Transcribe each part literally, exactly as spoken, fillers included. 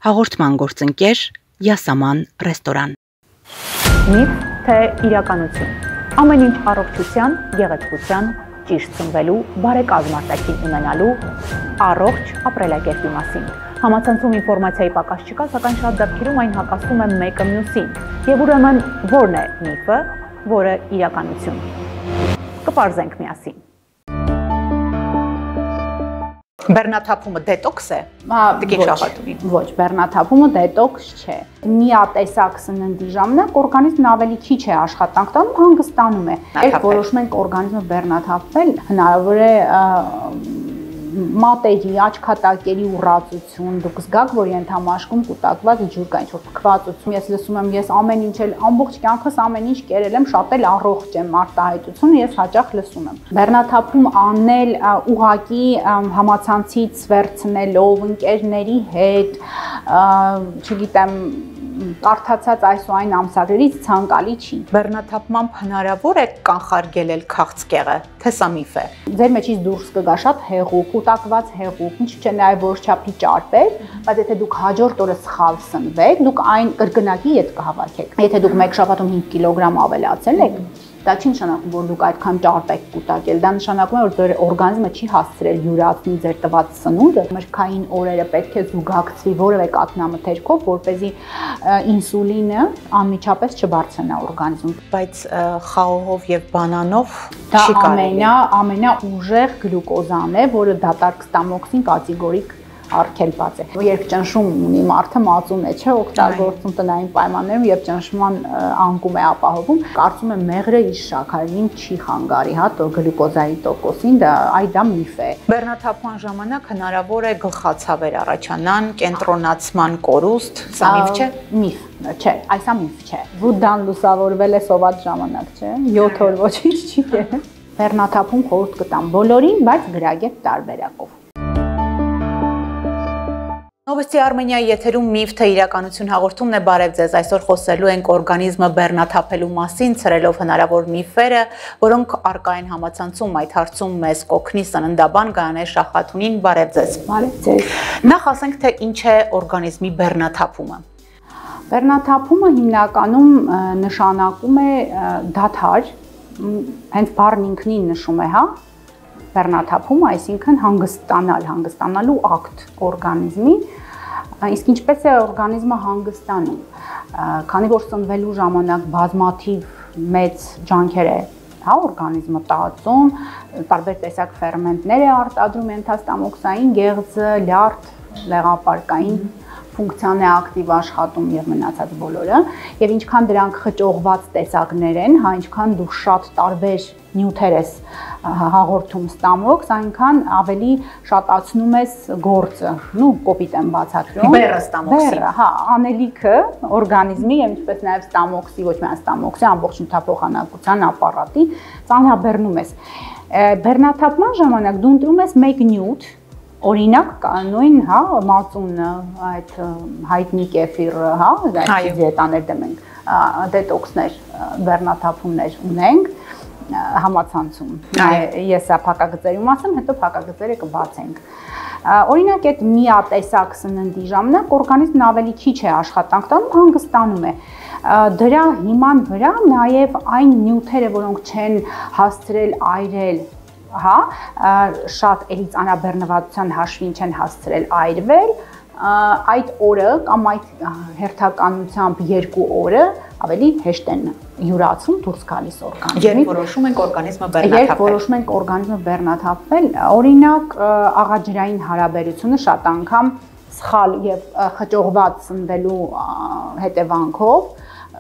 Հաղորդման գործընկեր Յասաման ռեստորան։ Միֆ թե իրականություն։ Ամեն ինչ առողջության, գեղեցկության, ճիշտ սնվելու, բարեկազմ արտաքին ունենալու, առողջ ապրելակերպի մասին։ Համացանցում ինֆորմացիայի պակաս չկա, սակայն շատ դեպքերում այն հակասում է մեկը մյուսին։ Եվ ուրեմն ո՞րն է միֆը, որը իրականություն։ Կպարզենք միասին։ Բեռնաթափումը դետոքս է։ Ոչ, բեռնաթափումը դետոքս չէ։ Միատեսակ սննդի ժամանակ օրգանիզմն ավելի քիչ է աշխատանք տանում, հանգստանում է։ Երբ որոշում ենք օրգանիզմը բեռնաթափվել, հնարավոր է մատերի, աչքատակերի ուռածություն, դուք զգաք, որ ենթամաշկում կուտակված ջուր կա, ինչ-որ փքվածություն։ Ես լսում եմ, ես ամեն ինչ էլ ամբողջ կյանքս ամեն ինչ կերել եմ, շատ էլ առողջ եմ, արտահայտությունը ես հաճախ լսում եմ։ Բեռնաթափում անել ուղղակի համացանցից վերցնելով ընկերների հետ, չգիտեմ, կարդացած այս ու այն ամսագրերից ցանկալի չի։ Բեռնաթափմամբ հնարավոր է կանխարգել քաղցկեղը, թե սա միֆ է։ Ձեր մեջից դուրս կգա շատ հեղուկ, կուտակված հեղուկ, ինչ չէ նաև որոշչափի ճարպեր, բայց եթե դուք հաջորդ օրը սխալ սնվեք, դուք այն կրկնակի ետ կհավաքեք։ Եթե դուք մեկ շաբաթում հինգ կիլոգրամ ավելացել եք, դա չի նշանակում, որ դուք այդքան ճարպ եք կուտակել, դա նշանակում է, որ ձեր օրգանիզմը չի հասցրել յուրացնի ձեր տված սնունդը, մրգային օրերը պետք է զուգակցվի որևէ կաթնամթերքով, որպեսզի ինսուլինը անմիջապես չբարձրանա օրգանիզմում։ Բայց խաղողով եւ բանանով դա ամենա ամենաուժեղ գլյուկոզան է, որը դատարկ ստամոքսին կատեգորիկ արգելված է։ Երբ ճնշում ունի մարդը մածուն է, չէ, օգտագործում տնային պայմաններում, երբ ճնշման անկում է ապահովում, կարծում եմ մեղրը իր շաքարին չի խանգարի, հա, գլյուկոզայի տոկոսին, դա այ դա միֆ է։ Բեռնաթափման ժամանակ հնարավոր է գլխացավեր առաջանան, կենտրոնացման կորուստ, սա միֆ չէ։ Միֆ չէ, այսա միֆ չէ։ Վուդդան լուսավորվել է սոված ժամանակ, չէ, յոթ օր ոչինչ չի եղել։ Բեռնաթափում խորհուրդ կտամ բոլորին, բայց գրագետ տարբերակով։ Նովոստի Արմենիայի եթերում միֆ թե իրականություն հաղորդումն է, բարև ձեզ, այսօր խոսելու ենք օրգանիզմը բեռնաթափելու մասին, ցրելով հնարավոր միֆերը, որոնք առկա են համացանցում, այդ հարցում մեզ կօգնի սննդաբան Գայանե Շախաթունին, բարև ձեզ։ Բարև ձեզ։ Նախ ասենք, թե ինչ է օրգանիզմի բեռնաթափումը։ Բեռնաթափումը հիմնականում նշանակում է դադար, հենց բառն ինքնին նշում է, հա, բեռնաթափումը, այսինքն հանգստանալ, հանգստանալու ակտ օրգանիզմի, իսկ ինչպես է օրգանիզմը հանգստանում, քանի որ սնվելու ժամանակ բազմաթիվ մեծ ջանքեր է, հա, օրգանիզմը տածում, տարբեր տեսակ ֆերմենտներ է արտադրում, ենթաստամոքսային գեղձը, լյարդ, լեղապարկային ֆունկցիան է ակտիվ աշխատում եւ մնացած բոլորը, եւ ինչքան դրանք խճողված տեսակներ են, հա, ինչքան դու շատ տարբեր նյութեր ես հաղորդում ստամոքս, այնքան ավելի շատացնում ես գործը, նու կոպիտ եմ բացատրում։ Բեռը ստամոքսի։ Բեռը, հա, անելիքը օրգանիզմի եւ ինչպես նաեւ ստամոքսի, ոչ միայն ստամոքսի, ամբողջ նյութափոխանակության ապարատի ծանրաբեռնում ես։ Բեռնաթափման ժամանակ դու ընտրում ես մեկ նյութ, օրինակ նույն, հա, մածունը, այդ հայտնի կեֆիրը, հա, այդ դիետաներ դեմ ենք, դետոքսներ, բեռնաթափումներ ունենք համացանցում։ Ես սա փակագծերում ասեմ, հետո փակագծերը կբացենք։ Օրինակ այդ միատեսակ սննդի ժամանակ օրգանիզմն ավելի քիչ է աշխատանք տանում, հանգստանում է։ Դրա հիման վրա նաև այն նյութերը, որոնք չեն հասցրել այրել, հա, շատ էլի ծանրաբեռնվածության հաշվին չեն հասցրել այրվել, այդ օրը կամ այդ հերթականությամբ երկու օրը ավելի հեշտ են յուրացում դուրս գալիս օրգանիզմից։ Երբ որոշում ենք օրգանիզմը բեռնաթափել։ Երբ որոշում ենք օրգանիզմը բեռնաթափել, օրինակ աղաջրային հարաբերությունը շատ անգամ սխալ եւ խճողված սնվելու հետևանքով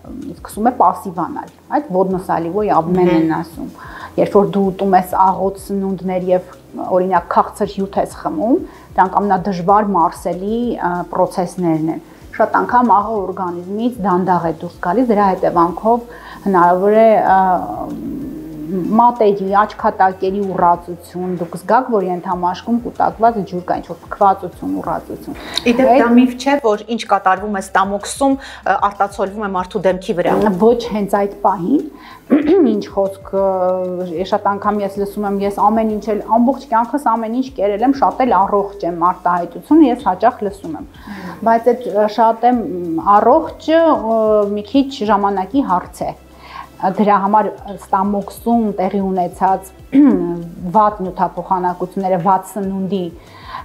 սկսում է պասիվանալ, այդ ոդնոսալիվոյ աբմեն են ասում։ Երբ որ դու ուտում ես աղոտ սնունդներ եւ օրինակ քաղցր հյութ ես խմում, դրանք ամենադժվար մարսելի պրոցեսներն են։ Շատ անգամ աղը օրգանիզմից դանդաղ է դուրս գալիս, դրա հետևանքով հնարավոր է մատերի, աչքատակերի ուռածություն, դուք զգաք, որ ենթամաշկում կուտակված ջուր կա, ինչ-որ փքվածություն, ուռածություն։ Իդեպ դա միֆ չէ, որ ինչ կատարվում է ստամոքսում, արտացոլվում է մարդու դեմքի վրա։ Ոչ հենց այդ պահին, ինչ խոսք, շատ անգամ ես լսում եմ, ես ամեն ինչ էլ ամբողջ կյանքս ամեն ինչ կերել եմ, շատ էլ առողջ եմ արտահայտությունը, ես հաճախ լսում եմ։ Բայց այդ շատ եմ առողջը մի քիչ ժամանակի հարց է։ Դրա համար ստամոքսում տեղի ունեցած վատ նյութափոխանակությունները, վատ սնունդի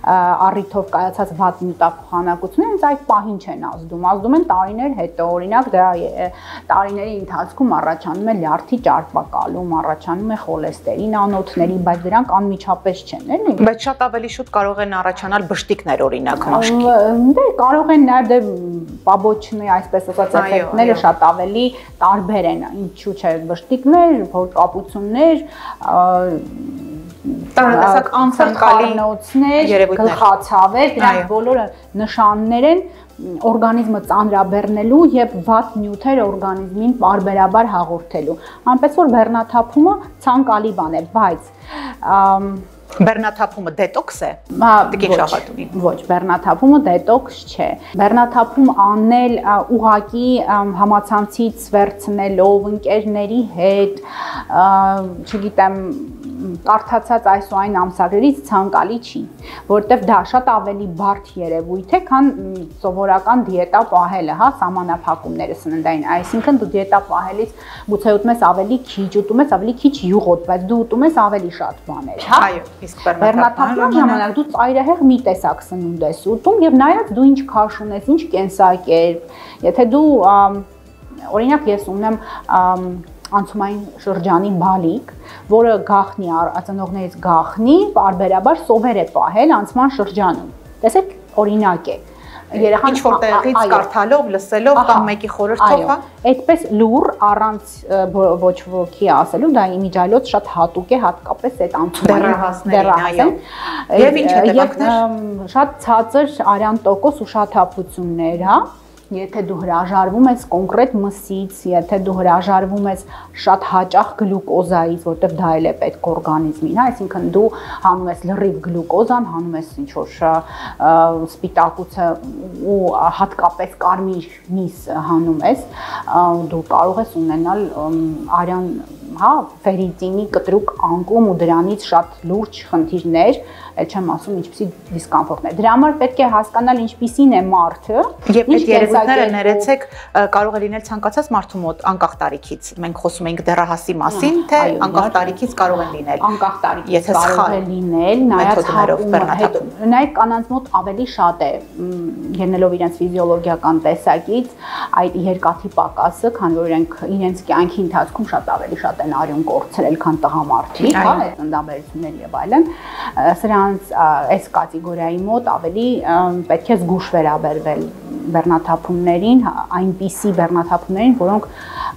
առիթով կայացած վատ նյութափոխանակությունները հենց այդ պահին չեն ազդում, ազդում են տարիներ հետո, օրինակ դա տարիների ընթացքում առաջանում է լյարդի ճարպակալում, առաջանում է խոլեստերին անոթների, բայց դրանք անմիջապես չեն, էլի։ Բայց շատ ավելի շուտ կարող են առաջանալ բշտիկներ, օրինակ, մաշկի։ Դե կարող են նաև դե պաբոչնի, այսպես ասած, էֆեկտները շատ ավելի տարբեր են, ինչու՞ չէ, բշտիկներ, փորկապություններ, տարատեսակ անցանկալի գլխացավեր, դրանք բոլորը նշաններ են օրգանիզմը ծանրաբեռնելու եւ վատ նյութեր օրգանիզմին բարբերաբար հաղորդելու։ Այնպես որ բեռնաթափումը ցանկալի բան է, բայց բեռնաթափումը դետոքս է։ Տիկին Շահատունի։ Ոչ, բեռնաթափումը դետոքս չէ։ Բեռնաթափում անել ուղակի համացանցից վերցնելով ընկերների հետ, չգիտեմ, կարդացած այս ու այն ամսագրերից ցանկալի չի, որովհետև դա շատ ավելի բարդ երևույթ է, քան սովորական դիետա պահելը, հա, սահմանափակումները սննդային, այսինքն դու դիետա պահելից գուցե ուտում ես ավելի քիչ, ուտում ես ավելի քիչ յուղոտ, բայց դու ուտում ես ավելի շատ բաներ, հա։ Այո, իսկ բեռնաթափման ժամանակ դու ծայրահեղ մի տեսակ սնունդ ես ուտում եւ նայած դու ինչ քաշ ունես, ինչ կենսակերպ, եթե դու օրինակ ես ունեմ անցումային շրջանի բալիկ, որը գախնի, ածնողներից գախնի, բարբերաբար սովեր է պահել անցման շրջանում։ Տեսեք, օրինակ է։ Երեխան ինչ-որ տեղից կարդալով, լսելով կամ մեկի խորհրդով, հա։ Այդպես լուր առանց ոչ ոքի ասելու, դա իմիջիալոց շատ հատուկ է, հատկապես այդ անցումային դեռահասներին, այո։ Եվ ինչ հետևանքներ։ Շատ ցածր արյան տոկոս ուշաթափություններ, հա։ Եթե դու հրաժարվում ես կոնկրետ մսից, եթե դու հրաժարվում ես շատ հաճախ գլյուկոզայից, որտեղ դա էլ է պետք օրգանիզմին, հա, այսինքն դու հանում ես լրիվ գլյուկոզան, հանում ես ինչ-որ սպիտակուցը ու հատկապես կարմիր միս հանում ես, դու կարող ես ունենալ արյան, հա, ֆերրիտինի կտրուկ անկում ու դրանից շատ լուրջ խնդիրներ, այդ չեմ ասում ինչպիսի դիսկոմֆորտներ։ Դրա համար պետք է հասկանալ ինչպիսին է մարդը, եւ այդ երևույթները ներեցեք կարող է լինել ցանկացած մարդու մոտ անկախ տարիքից։ Մենք խոսում ենք դեռահասի մասին, թե անկախ տարիքից կարող են լինել։ Անկախ տարիքից կարող է լինել, նայած հատում։ Նայեք կանանց մոտ ավելի շատ է ելնելով իրենց ֆիզիոլոգիական տեսակից այդ երկաթի պակասը, քանի որ իրենք իրենց կյանքի ընթացքում շատ ավելի շատ են արյուն կորցրել, քան տղամարդիկ, հա, այդ ծննդաբերություններ եւ այլն։ Սրանց այս կատեգորիայի մոտ ավելի պետք է զգուշ վերաբերվել բեռնաթափումներին, այնպիսի բեռնաթափումներին, որոնք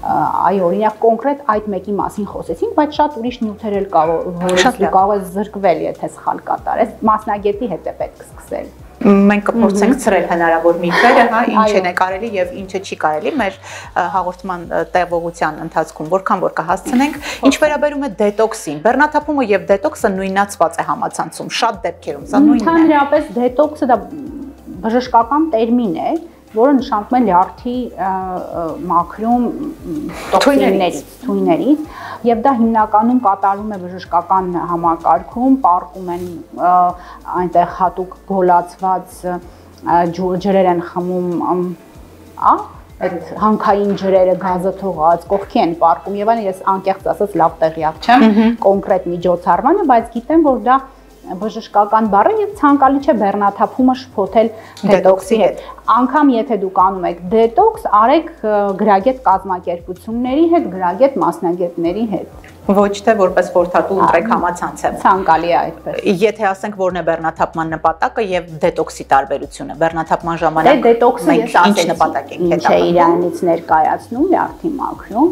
այո, օրինակ կոնկրետ այդ մեկի մասին խոսեցինք, բայց շատ ուրիշ նյութեր էլ կա, որոնց դու կարող ես զրկվել, եթե սխալ կատարես, մասնագետի հետ է պետք սկսել։ Մենք կփորձենք ցրել հնարավոր միֆերը, հա, ինչն է կարելի եւ ինչը չի կարելի մեր հաղորդման տևողության ընթացքում, որքան որ կհասցնենք, ինչ վերաբերում է դետոքսին, բեռնաթափումը եւ դետոքսը նույնացված է համացանցում, շատ դեպքերում սա նույնն է։ Ընդհանրապես դետոքսը դա բժշկական տերմին է, որը նշանակում է լյարդի մաքրում տոքսիններից, թույներից, եւ դա հիմնականում կատարվում է բժշկական համակարգում, պարկում են այնտեղ հատուկ գոլացված ջրեր են խմում, ա, այդ հանքային ջրերը գազը թողած, կողքի են պարկում եւ այն ես անկեղծ ասած լավ տեղյակ չեմ կոնկրետ միջոցառմանը, բայց գիտեմ, որ դա բժշկական բառ է եւ ցանկալի չէ բեռնաթափումը շփոթել դետոքսի հետ։ Անգամ եթե դուք անում եք դետոքս, արեք գրագետ կազմակերպությունների հետ, գրագետ մասնագետների հետ։ Ոչ թե որպես խորհրդատու ընտրեք համացանցը։ Ցանկալի է այդպես։ Եթե ասենք որն է բեռնաթափման նպատակը եւ դետոքսի տարբերությունը, բեռնաթափման ժամանակ դե դետոքսը ես ինչ նպատակ ենք հետապնդում։ Ինչ է իրանից ներկայացնում լյարդի մաքրում,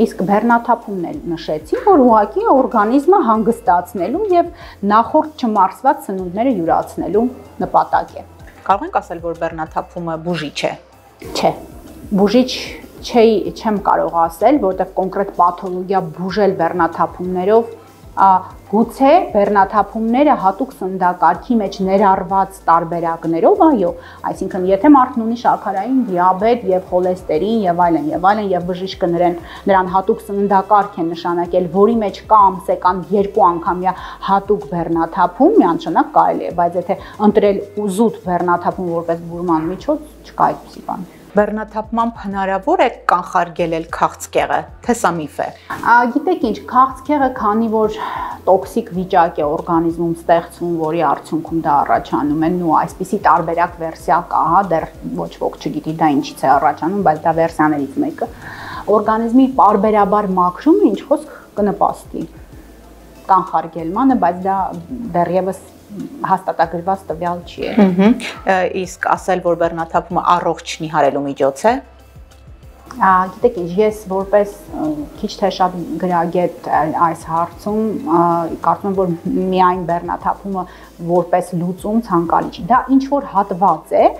իսկ բեռնաթափումն էլ նշեցի, որ ուղղակի օրգանիզմը հանգստացնելու եւ նախորդ չմարսված սնունդները յուրացնելու նպատակ է։ Կարող ենք ասել, որ բեռնաթափումը բուժիչ է։ Չէ։ Բուժիչ չեմ կարող ասել, որտեղ կոնկրետ պաթոլոգիա բուժել բեռնաթափումներով գուցե բեռնաթափումները հատուկ սննդակարգի մեջ ներառված տարբերակներով, այո, այսինքն եթե մարդն ունի շաքարային դիաբետ եւ խոլեստերին եւ այլն եւ այլն եւ բժիշկը նրան նրան հատուկ սննդակարգ է նշանակել, որի մեջ կա ամսական երկու անգամյա հատուկ բեռնաթափում, միանշանակ կարելի է, բայց եթե ընտրել զուտ բեռնաթափում որպես բուրման միջոց, չկա այդպիսի բան։ Բեռնաթափմամբ հնարավոր է կանխարգել քաղցկեղը, թե սա միֆ է։ Գիտեք ինչ, քաղցկեղը, քանի որ տոքսիկ վիճակ է օրգանիզմում ստեղծվում, որի արդյունքում դա առաջանում է, ու այսպիսի տարբերակ վերսիա կա, հա, դեռ ոչ ոք չգիտի դա ինչից է առաջանում, բայց դա վերսիաներից մեկը։ Օրգանիզմի պարբերաբար մաքրումը ինչ խոսք կնպաստի կանխարգելմանը, բայց դա դեռևս հաստատագրված տվյալ չի է։ Իսկ ասել, որ բեռնաթափումը առողջ նիհարելու միջոց է։ Գիտեք ինչ, ես որպես քիչ թե շատ գրագետ այս հարցում կարծում եմ, որ միայն բեռնաթափումը որպես լուծում ցանկալի չի։ Դա ինչ որ հատված է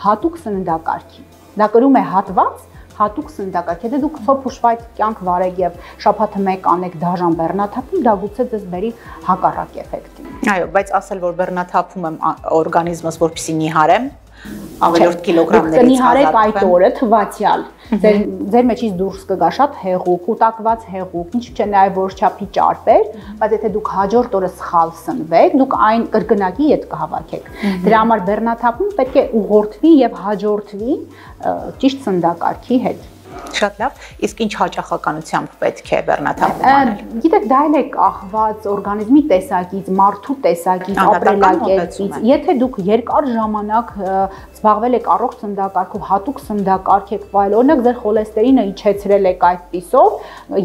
հատուկ սննդակարգի։ Դա կրում է հատված հատուկ սննդակարգ։ Եթե դուք փոփուշվայց կյանք վարեք եւ շաբաթը մեկ անեք դաժան բեռնաթափում, դա գուցե ձեզ բերի հակառակ էֆեկտի։ Այո, բայց ասել, որ բեռնաթափում եմ օրգանիզմս, որպեսզի նիհարեմ, ավելորդ կիլոգրամներից նիհարեք այդ օրը թվացial։ Ձեր ձեր մեջից դուրս կգա շատ հեղուկ, կուտակված հեղուկ, ինչ չէ նաև որչափի ճարպեր, բայց եթե դուք հաջորդ օրը սխալ սնվեք, դուք այն կրկնակի ետ կհավաքեք։ Դրա համար բեռնաթափում պետք է ուղղորդվի եւ հաջորդվի ճիշտ սննդակարգի հետ։ Շատ լավ, իսկ ինչ հաճախականությամբ պետք է բեռնաթափում անել։ Գիտեք, դա էլ է կախված օրգանիզմի տեսակից, մարդու տեսակից, ապրելակերպից։ Եթե դուք երկար ժամանակ զբաղվել եք առողջ սննդակարգով, հատուկ սննդակարգ եք վայել, օրինակ ձեր խոլեստերինը իջեցրել եք այդպիսով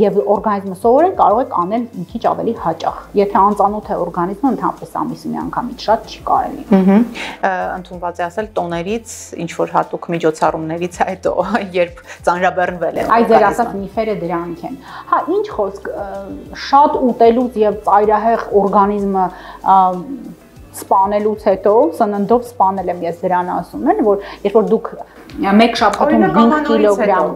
եւ օրգանիզմը սովորել, կարող եք անել մի քիչ ավելի հաճախ։ Եթե անծանոթ է օրգանիզմը, ընդհանրապես ամիսը մի անգամից շատ չի կարելի։ Ընդունված է ասել տոներից, ինչ որ հատուկ միջոցառումներից հետո, երբ ծանրաբեռնվել է։ Այդ ձեր ասած միֆերը դրանք են։ Հա, ինչ խոսք, շատ ուտելուց եւ ծայրահեղ օրգանիզմը սպանելուց հետո, սննդով սպանել եմ ես դրան ասում եմ, որ երբ որ դուք մեկ շաբաթում հինգ կիլոգրամ,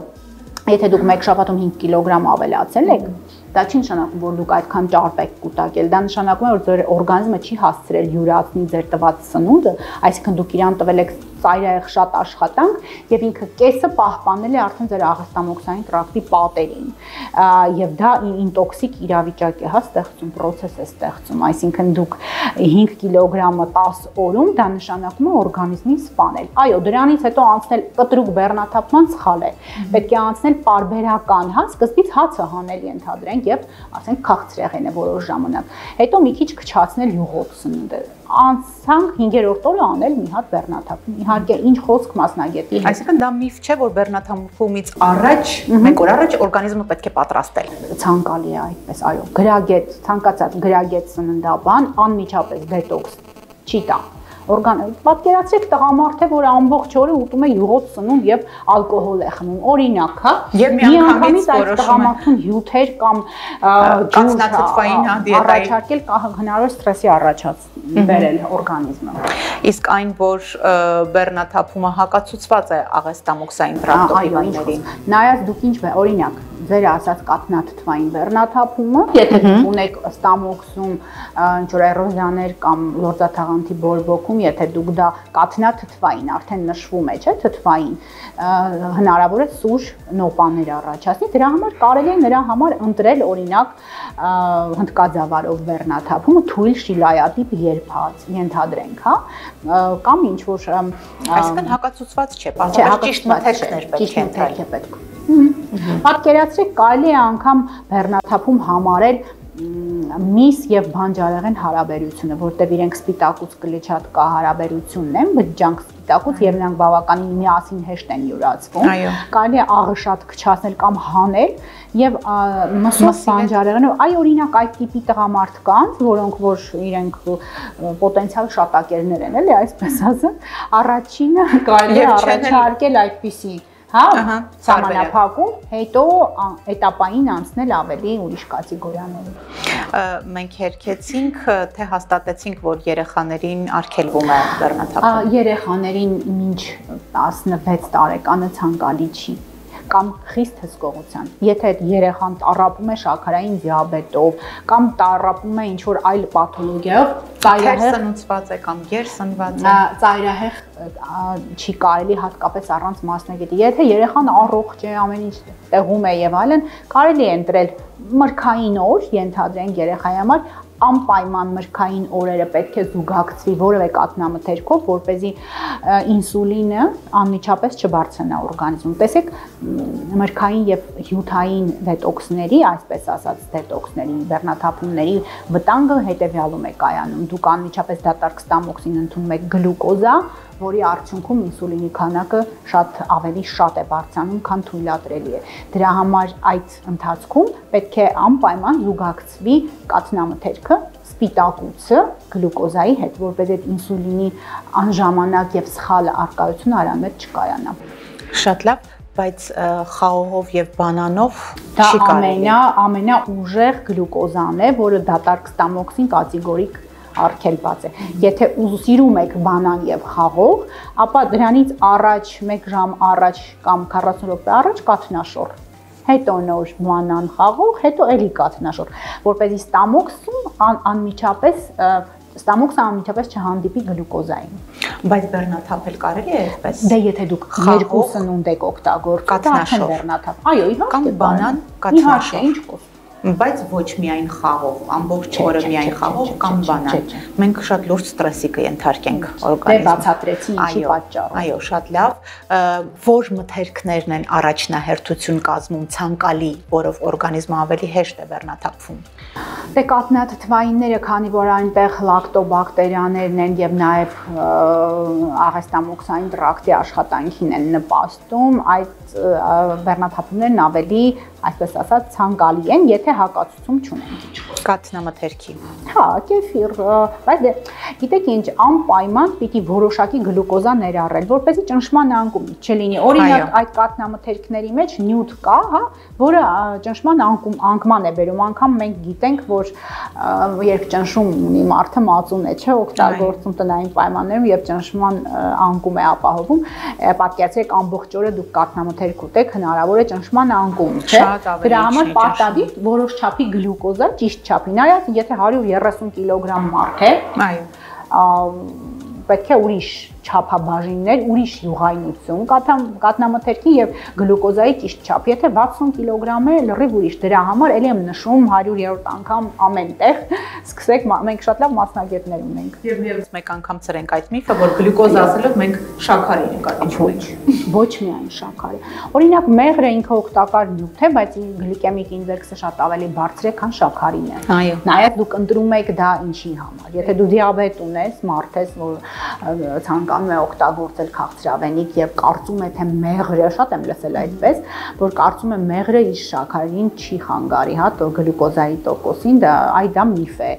եթե դուք մեկ շաբաթում հինգ կիլոգրամ ավելացել եք, դա չի նշանակում, որ դուք այդքան ճարպ եք կուտակել, դա նշանակում է, որ ձեր օրգանիզմը չի հասցրել յուրացնի ձեր տված սնունդը, այսինքն դուք իրան տվել եք ծայրահեղ շատ աշխատանք եւ ինքը կեսը պահպանել է արդեն ձեր աղստամոքսային տրակտի պատերին եւ դա ինտոքսիկ իրավիճակ է հա ստեղծում, process է ստեղծում, այսինքն դուք հինգ կիլոգրամը տաս օրում դա նշանակում է օրգանիզմին սպանել։ Այո, դրանից հետո անցնել կտրուկ բեռնաթափման սխալ է։ Պետք է անցնել պարբերական, հա, սկզբից հացը հանել ենթադրենք եւ ասենք քաղցրեղենը որոշ ժամանակ։ Հետո մի քիչ քչացնել յուղոտ սնունդը։ Անցանք հինգերորդ օրը անել մի հատ բեռնաթափում։ Իհարկե, ինչ խոսք մասնագետի։ Այսինքն դա միֆ չէ, որ բեռնաթափումից առաջ, մեկ օր առաջ օրգանիզմը պետք է պատրաստել։ Ցանկալի է այդպես, այո։ Գրագետ, ցանկացած գրագետ սննդաբան անմիջապես դետոքս չի տա։ Օրգան, պատկերացրեք տղամարդ է, որ ամբողջ օրը ուտում է յուղոտ սնունդ եւ ալկոհոլ է խմում։ Օրինակ, հա, միանգամից այդ տղամարդուն հյութեր կամ կացնաթթվային հա դիետայի առաջարկել հնարավոր սթրեսի առաջացնել օրգանիզմը։ Իսկ այն, որ բեռնաթափումը հակացուցված է աղեստամոքսային տրակտոպիվներին։ Նայած դուք ինչ է, օրինակ, ձեր ասած կաթնաթթվային բեռնաթափումը, եթե դուք ունեք ստամոքսում ինչ որ էրոզիաներ կամ լորձաթաղանթի բորբոքում, եթե դուք դա կաթնաթթվային արդեն նշվում է, չէ՞, թթվային, հնարավոր է սուր նոպաներ առաջացնի, դրա համար կարելի է նրա համար ընտրել օրինակ հնդկաձավարով բեռնաթափումը թույլ շիլայատիպ երբած, ենթադրենք, հա, կամ ինչ որ այսինքն հակացուցված չէ, պարզապես ճիշտ մթերքներ պետք է պետք։ Պատկերացրեք, կարելի է անգամ բեռնաթափում համարել միս եւ բանջարեղեն հարաբերությունը, որտեղ իրենք սպիտակուց կլիչատ կա հարաբերությունն են, բջջանք սպիտակուց եւ նրանք բավականին միասին հեշտ են յուրացվում։ Կարելի է աղը շատ քչացնել կամ հանել եւ մսով բանջարեղենը, այ օրինակ այդ տիպի տղամարդկանց, որոնք որ իրենք պոտենցիալ շատակերներ են, էլի այսպես ասած, առաջինը կարելի է առաջարկել այդպիսի հա, սահմանափակում, հետո էտապային անցնել ավելի ուրիշ կատեգորիաների։ Մենք հերքեցինք, թե հաստատեցինք, որ երեխաներին արգելվում է բեռնաթափումը։ Երեխաներին մինչ տասնվեց տարեկանը ցանկալի չի։ կամ խիստ հսկողության։ Եթե այդ երեխան տառապում է շաքարային դիաբետով կամ տառապում է ինչ-որ այլ պաթոլոգիայով, ծայրահեղ սնուցված է կամ գերսնված է, ծայրահեղ չի կարելի հատկապես առանց մասնագետի։ Եթե երեխան առողջ է, ամեն ինչ տեղում է եւ այլն, կարելի է ընտրել մրգային օր, ենթադրենք երեխայի համար, անպայման մրգային օրերը պետք է զուգակցվի որևէ կաթնամթերքով, որպեսզի ինսուլինը անմիջապես չբարձրանա օրգանիզմում։ Տեսեք, մրգային եւ հյութային դետոքսների, այսպես ասած, դետոքսների, բեռնաթափումների վտանգը հետեւյալում է կայանում։ Դուք անմիջապես դատարկ ստամոքսին ընդունում եք գլյուկոզա, որի արդյունքում ինսուլինի քանակը շատ ավելի շատ է բարձրանում, քան թույլատրելի է։ Դրա համար այդ ընթացքում պետք է անպայման զուգակցվի կաթնամթերքը, սպիտակուցը գլյուկոզայի հետ, որպես այդ ինսուլինի անժամանակ եւ սխալ արկայությունը արամետ չկայանա։ Շատ լավ, բայց խաղողով եւ բանանով դա ամենա ամենաուժեղ գլյուկոզան է, որը դատարկ ստամոքսին կատեգորիկ արգելված է։ Եթե սիրում եք բանան եւ խաղող, ապա դրանից առաջ մեկ ժամ առաջ կամ քառասուն րոպե առաջ կաթնաշոր, հետո նոր բանան խաղող, հետո էլի կաթնաշոր, որպեսզի ստամոքսում անմիջապես ստամոքսը անմիջապես չհանդիպի գլյուկոզային։ Բայց բեռնաթափել կարելի է այդպես։ Դե եթե դուք երկու սնունդ եք օգտագործում, արդեն բեռնաթափ։ Այո, իհարկե, կամ բանան կաթնաշոր։ Ինչ խոսք։ Բայց ոչ միայն խաղող, ամբողջ օրը միայն խաղող կամ բանան։ Մենք շատ լուրջ ստրեսի կենթարկենք օրգանիզմում։ Դե բացատրեցի ինչի պատճառով։ Այո, շատ լավ։ Որ մթերքներն են առաջնահերթություն կազմում ցանկալի, որով օրգանիզմը ավելի հեշտ է բեռնաթափվում։ Դե կաթնաթթվայինները, քանի որ այնտեղ լակտոբակտերիաներն են եւ նաեւ աղեստամոքսային տրակտի աշխատանքին են նպաստում, այդ բեռնաթափումներն ավելի, այսպես ասած, ցանկալի են, եթե հակացություն չունենք։ Կաթնամթերքի։ Հա, կեֆիր, բայց դե գիտեք ինչ, անպայման պիտի որոշակի գլյուկոզա ներառել, որպեսզի ճնշման անկում չլինի։ Օրինակ, այդ կաթնամթերքների մեջ նյութ կա, հա, որը ճնշման անկում անկման է բերում, անգամ մենք գիտենք, որ երբ ճնշում ունի մարդը մածուն է, չէ, օգտագործում տնային պայմաններում եւ ճնշման անկում է ապահովում, պատկերացրեք ամբողջ օրը դուք կաթնամթերք ուտեք, հնարավոր է ճնշման անկում, չէ։ Դրա համար պարտադիր որոշ չափի գլյուկոզա, ճիշտ չափի, նայած եթե հարյուր երեսուն կիլոգրամ մարդ է, այո, պետք է ուրիշ չափաբաժիններ, ուրիշ յուղայնություն կաթնամթերքի եւ գլյուկոզայի ճիշտ չափ։ Եթե վաթսուն կիլոգրամ է, լրիվ ուրիշ։ Դրա համար ելի եմ նշում հարյուրերորդ անգամ ամեն տեղ, սկսեք, մենք շատ լավ մասնագետներ ունենք։ Եվ միևնույն մեկ անգամ ցրենք այդ միֆը, որ գլյուկոզ ասելով մենք շաքարի նկատիչում ենք։ Ոչ միայն շաքարի։ Օրինակ մեղրը ինքը օգտակար նյութ է, բայց գլիկեմիկ ինդեքսը շատ ավելի բարձր է, քան շաքարին է։ Այո։ Նաև դուք ընտրում եք դա ինչի համար։ Եթե դու դիաբետ ունես, մարդ ես, որ ցանկանում է օգտագործել քաղցրավենիք եւ կարծում է թե մեղրը, շատ եմ լսել այդպես, որ կարծում է մեղրը իր շաքարին չի խանգարի, հա, գլյուկոզայի տոկոսին, դա այ դա միֆ է։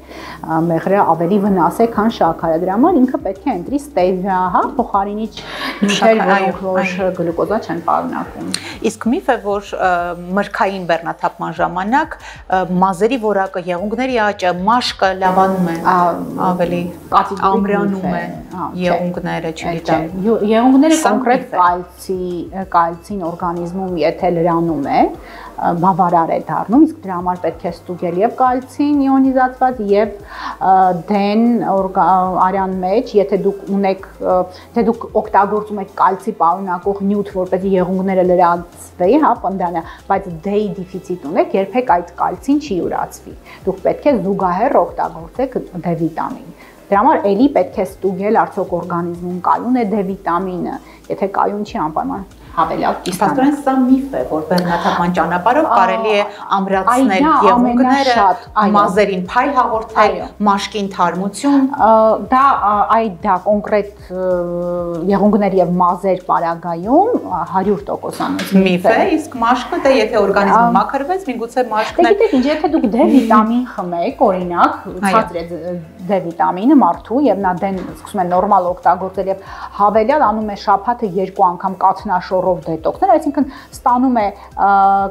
Մեղրը ավելի վնաս է, քան շաքարը։ Դրա համար ինքը պետք է ընտրի ստեվիա, հա, փոխարինիչ նյութեր, որոնք որ գլյուկոզա չեն պարունակում։ Իսկ միֆ է, որ մրգային բեռնաթափման ժամանակ մազերի որակը, եղունգների աճը, մաշկը լավանում է, ավելի ամրանում է եղունգները, չգիտեմ։ Եղունգները կոնկրետ կալցի, կալցին օրգանիզմում եթե լրանում է, բավարար է դառնում, իսկ դրա համար պետք է ստուգել եւ կալցին իոնիզացված եւ դեն արյան մեջ, եթե դուք ունեք, թե դուք օգտագործում եք կալցի պարունակող նյութ, որպեսզի եղունգները լրացվի, հա, պնդանը, բայց դեի դեֆիցիտ ունեք, երբեք այդ կալցին չի յուրացվի։ Դուք պետք է զուգահեռ օգտագործեք դե վիտամին։ Դրա համար էլի պետք է ստուգել արդյոք օրգանիզմում կայուն է դե վիտամինը, եթե կայուն չի անպայման հավելյալ կիսան։ Պաստորեն սա միֆ է, որ բեռնաթափման ճանապարհով կարելի է ամրացնել եղունգները, մազերին փայլ հաղորդել, մաշկին թարմություն։ Դա այ դա կոնկրետ եղունգներ եւ մազեր պարագայում հարյուր տոկոս միֆ է, իսկ մաշկը դա եթե օրգանիզմը մաքրվեց, միգուցե մաշկն է։ Գիտեք ինչ, եթե դուք դե վիտամին խմեք, օրինակ, ցածր է դե վիտամինը, մարդու եւ նա դեն սկսում է նորմալ օգտագործել եւ հավելյալ անում է շաբաթը երկու անգամ կաթնաշորով դետոքսներ, այսինքն ստանում է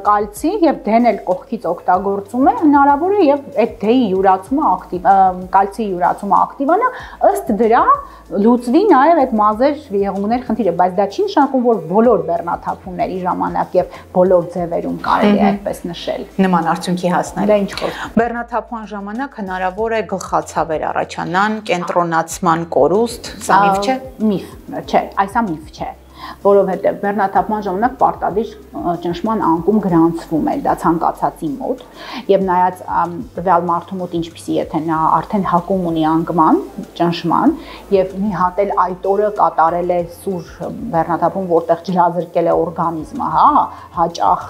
կալցի եւ դեն էլ կողքից օգտագործում է, հնարավոր է եւ այդ դեի յուրացումը ակտիվ կալցի յուրացումը ակտիվանա, ըստ դրա լուծվի նաեւ այդ մազեր եղունգներ խնդիրը, բայց դա չի նշանակում, որ բոլոր բեռնաթափումների ժամանակ եւ բոլոր ձևերում կարելի է այդպես նշել։ Նման արդյունքի հասնել։ Դա ինչ որ։ Բեռնաթափման ժամանակ հնարավոր է գլխացավեր առաջանան, կենտրոնացման կորուստ, սա միֆ չէ։ Միֆ, չէ, այս միֆ չէ, որովհետեւ բեռնաթափման ժամանակ պարտադիր ճնշման անկում գրանցվում է դա ցանկացածի մոտ եւ նայած տվյալ մարդու մոտ ինչպիսի եթե նա արդեն հակում ունի անկման ճնշման եւ մի հատ էլ այդ օրը կատարել է սուր բեռնաթափում, որտեղ ջրազրկել է օրգանիզմը, հա, հաճախ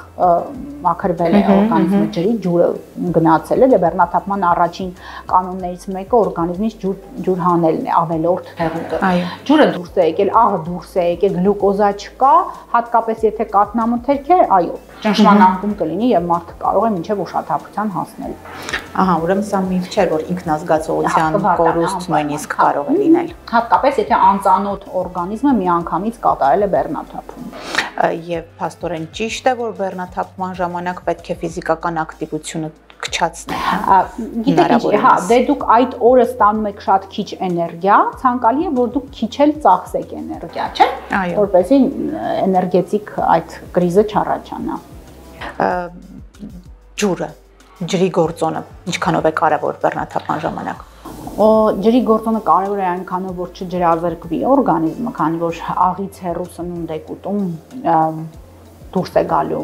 մաքրվել է օրգանիզմը ջրի, ջուրը գնացել է, դե բեռնաթափման առաջին կանոններից մեկը օրգանիզմից ջուր ջուր հանելն է, ավելորդ հեղուկը։ Ջուրը դուրս է եկել, աղը դուրս է եկել, գլյուկոզա չկա, հատկապես եթե կաթնամթերք է, այո, ճնշման անկում կլինի եւ մարդը կարող է մինչեւ ուշաթափության հասնել։ Ահա, ուրեմն սա միֆ չէ, որ ինքնազգացողության կորուստ նույնիսկ կարող է լինել։ Հատկապես եթե անծանոթ օրգանիզմը միանգամից կատարել է բեռնաթափում։ Եվ փաստորեն ճիշտ է, որ բեռնաթափման ժամանակ պետք է ֆիզիկական ակտիվությունը քչացնել։ Գիտեք, հա, դե դուք այդ օրը ստանում եք շատ քիչ էներգիա, ցանկալի է, որ դուք քիչ էլ ծախսեք էներգիա, չէ՞, որպեսզի էներգետիկ այդ կրիզը չառաջանա։ Ջուրը, ջրի գործոնը ինչքանով է կարևոր բեռնաթափման ժամանակ։ Ջրի գործոնը կարևոր է այնքանով, որ չջրազրկվի օրգանիզմը, քանի որ աղից հեռու սնունդ եք ուտում, դուրս է գալու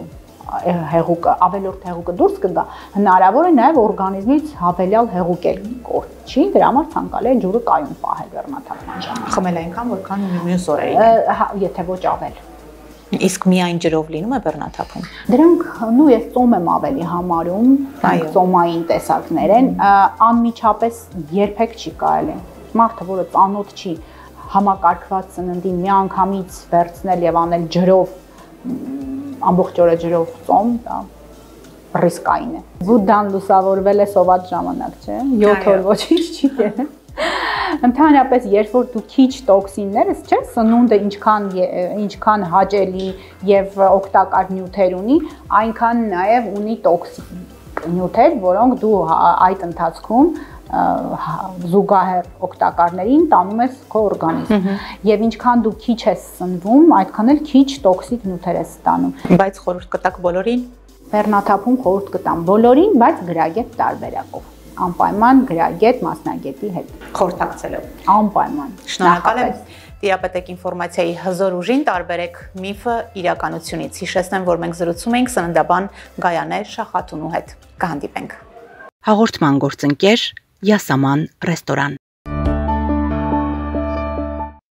հեղուկը, ավելորդ հեղուկը դուրս կգա, հնարավոր է նաև օրգանիզմից հավելյալ հեղուկ էլ կորչի, դրա համար ցանկալի է ջուրը կայուն պահել բեռնաթափման ժամանակ։ Խմել այնքան, որքան մյուս օրերին։ Եթե ոչ ավել։ Իսկ միայն ջրով լինում է բեռնաթափում։ Դրանք նույն ես ծոմ եմ ավելի համարում, ծոմային տեսակներ են, անմիջապես երբեք չի կարելի։ Մարդը, որը ծանոթ չի համակարգված սննդին միանգամից վերցնել եւ անել ջրով, ամբողջ օրը ջրով ծոմ, դա ռիսկային է։ Բուդդան լուսավորվել է սոված ժամանակ, չէ՞։ յոթ օր ոչինչ չի եղել։ Ընդհանրապես, երբ որ դու քիչ տոքսիններս, չէ՞, սնունդը ինչքան ինչքան հաճելի եւ օգտակար նյութեր ունի, այնքան նաեւ ունի տոքսիկ նյութեր, որոնք դու այդ ընթացքում զուգահեռ օգտակարներին տանում ես քո օրգանիզմ եւ ինչքան դու քիչ ես սնվում, այդքան էլ քիչ տոքսիկ նյութեր ես ստանում։ Բայց խորհուրդ կտաք բոլորին։ Բեռնաթափում խորհուրդ կտամ բոլորին, բայց գրագետ տարբերակով։ Անպայման գրագետ մասնագետի հետ խորհրդակցելով։ Անպայման։ Շնորհակալ եմ Տիրապետեք ինֆորմացիայի հզոր ուժին, տարբերեք միֆը իրականությունից։ Հիշեցնեմ, որ մենք զրուցում ենք սննդաբան Գայանե Շախատունու հետ։ Կհանդիպենք։ Հաղորդման գործընկեր Յասաման ռեստորան։